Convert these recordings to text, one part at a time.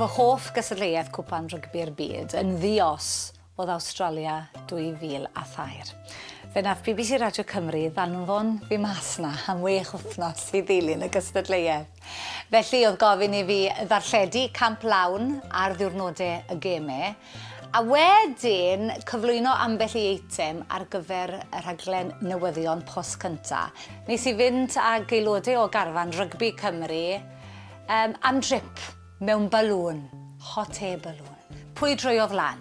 Fy hoff gystadleuaeth Cwpan Rygbi'r Byd yn ddi-os oedd Awstralia 2003. Fe nath BBC Radio Cymru ddanfon fi mas 'na am 6 wythnos i ddilyn y gystadleuaeth. Felly oedd gofyn i fi ddarlledu camp lawn ar ddiwrnodau y gemau, a wedyn cyflwyno ambell i eitem ar gyfer y rhaglen newyddion Post Cynta. Nes i fynd ag aelodau o garfan Rygbi Cymru am drip mewn balŵn, hot air balloon. Pwy droiodd lan?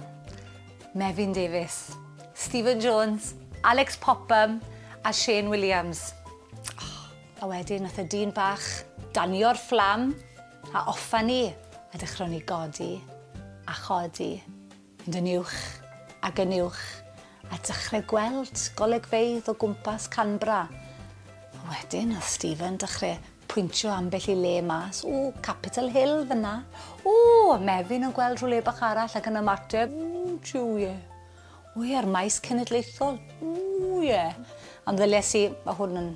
Mefin Davies, Stephen Jones, Alex Popham a Shane Williams. Oh, a wedyn nath y dyn bach danio'r fflam a offa ni a dechrau ni godi a chodi, mynd yn uwch ac yn uwch a dechrau gweld golygfeydd o gwmpas Canberra. A wedyn nath Stephen dechrau pwyntio ambell i le mas. O, Capitol Hill fyna. O, Mefin yn gweld rhywle bach arall ac yn ymateb. O, jiw, ie. O, ie, ar maes cenedlaethol. O, ie. Ond ddylies i, mae hwn yn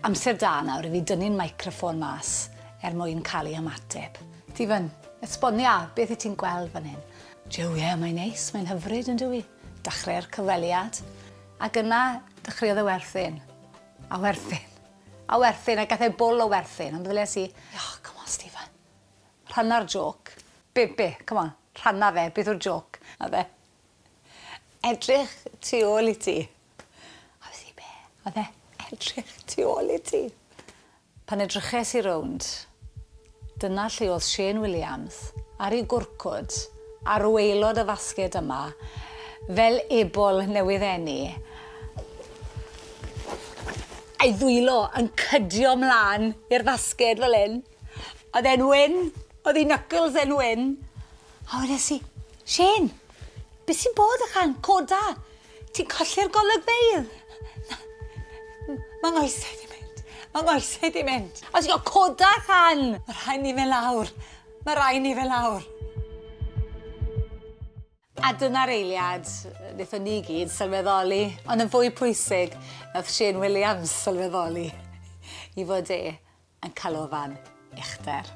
amser da nawr i fi dynnu'n microffon mas er mwyn cael ei ymateb. Stephen, esbonia, beth i ti'n gweld fan hyn? Jiw, ie, mae'n neis, mae'n hyfryd yn dywi. Dechrau'r cyfweliad. Ac yna dechreuodd e werthin. A werthin. A werthin, a gath e bwl o werthin. Ond ddylies i, oh, come on, Stephen. Rhanna'r joc. Be, come on, rhanna fe, beth yw'r joc? A fe, edrych tu ôl i ti. A fe si, be? A fe, edrych tu ôl i ti. Pan edryches i rownd, dyna lle oedd Shane Williams ar ei gwrcwd, ar waelod y fasged yma, fel ebol newydd eni, a'i ddwylo yn cydio mlaen i'r fasged fel hyn. Oedd e'n wyn, oedd ei knuckles e'n wyn. A wedes i, Shane, beth sy'n bod ychan? Coda, ti'n colli'r golygfeydd. Mae nghoesau di mynd, mae nghoesau di mynd. A ti'n gwybod, coda chan! Mae rhaid ni fe lawr, mae rhaid ni fe lawr. A dyna'r eiliad wnaethon ni gyd sylweddoli, ond yn fwy pwysig, nath Shane Williams sylweddoli i fod e yn canolfan uchder.